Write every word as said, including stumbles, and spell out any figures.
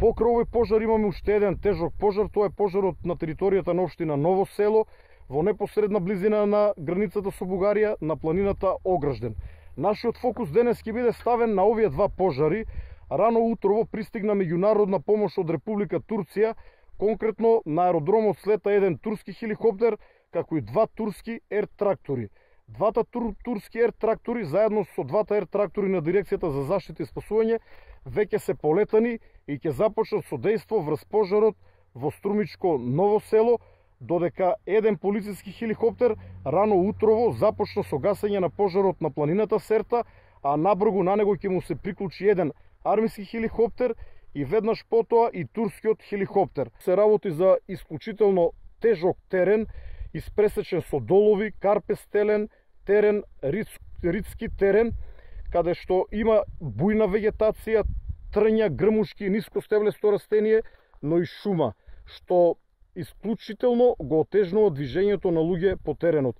Покрај овој пожар имаме уште еден тежок пожар, тоа е пожарот на територијата на општина Ново село, во непосредна близина на границата со Бугарија, на планината Огражден. Нашиот фокус денес ќе биде ставен на овие два пожари. Рано утрово пристигна меѓународна помош од Република Турција, конкретно на аеродромот слета еден турски хеликоптер, како и два турски ер-трактори. Двата тур, турски ер-трактори, заедно со двата ер-трактори на Дирекцијата за заштита и спасување, веќе се полетани и ќе започнат со дејство врз пожарот во Струмичко Ново село, додека еден полициски хеликоптер рано утрово започна со гасење на пожарот на планината Серта, а набргу на него ќе му се приклучи еден армиски хеликоптер и веднаш потоа и турскиот хеликоптер. Се работи за исклучително тежок терен, испресечен со долови, карпестелен терен, ридски терен, каде што има бујна вегетација, трња, грмушки, нискостеблесто растение, но и шума, што исклучително го отежнува движењето на луѓе по теренот.